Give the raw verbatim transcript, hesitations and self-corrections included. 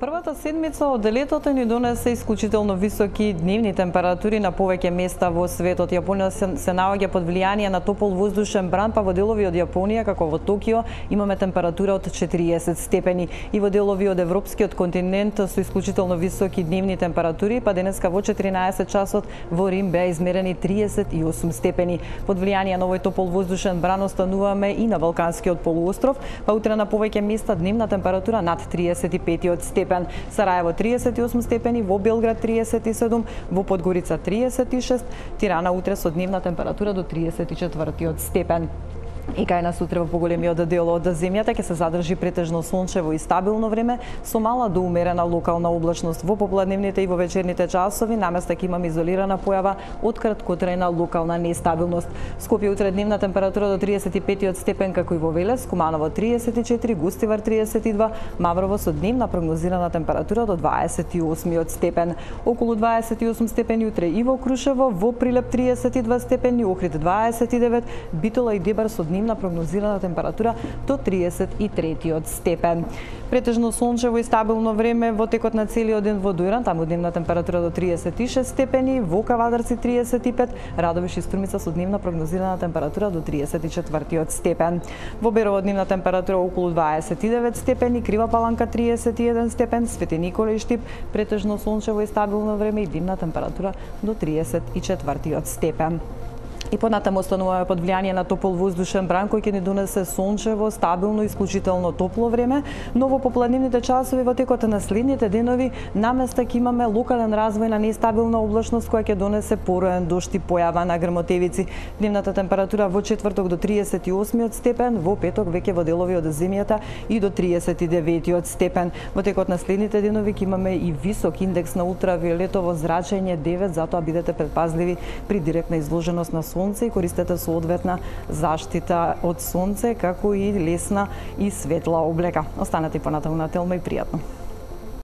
Првата седмица од летото ни донесе исклучително високи дневни температури на повеќе места во светот. Јапонија се, се наоѓа под влијание на топол воздушен бран, па во делови од Јапонија, како во Токио, имаме температура од четириесет степени. И во делови од европскиот континент со исклучително високи дневни температури, па денеска во четиринаесет часот во Рим беа измерени триесет и осум степени. Под влијание на овој топол воздушен бран остануваме и на Балканскиот полуостров, па утре на повеќе места дневна температура над триесет и пет степени. Сараево триесет и осум степени, во Белград триесет и седум, во Подгорица триесет и шест, Тирана утре со дневна температура до триесет и четири степен. И кај нас утре во поголемиот дел од земјата ќе се задржи претежно сончево и стабилно време со мала до умерена локална облачност. Во попладневните и во вечерните часови наместа ќе имаме изолирана појава од краткотрајна локална нестабилност. Скопје утре дневна температура до триесет и пет степен како и во Велес, Куманово триесет и четири, Густивар триесет и два, Маврово со дневна прогнозирана температура до дваесет и осум степен. Околу дваесет и осум степени утре и во Крушево, во Прилеп триесет и два степени, Охрид дваесет и девет, Битола и Дебар со дневна прогнозирана температура до триесет и три степен. Претежно сончево и стабилно време во текот на целиот ден во Дујран, таму дневна температура до триесет и шест степени, во Кавадарци триесет и пет, Радовиш и Струмица со дневна прогнозирана температура до триесет и четири степен. Во Берово дневна температура околу дваесет и девет степени, Крива Паланка триесет и еден степен, Свети Никола и Штип претежно сончево и стабилно време и дневна температура до триесет и четири степен. И понатаму остануваме под влијание на топол воздушен бран кој ќе ни донесе сончево, стабилно и исклучително топло време, но во попладневните часови во текот на следните денови наместа ќе имаме локален развој на нестабилна облачност која ќе донесе пороен дожд и појава на грмотевици. Дневната температура во четврток до триесет и осум степен, во петок веќе во делови од земјата и до триесет и девет степен. Во текот на следните денови ќе имаме и висок индекс на ултравиолетово зрачење девет, затоа бидете предпазливи при директна изложеност на сонце и користете соодветна заштита од сонце, како и лесна и светла облека. Останете понатаму на Телма и пријатно.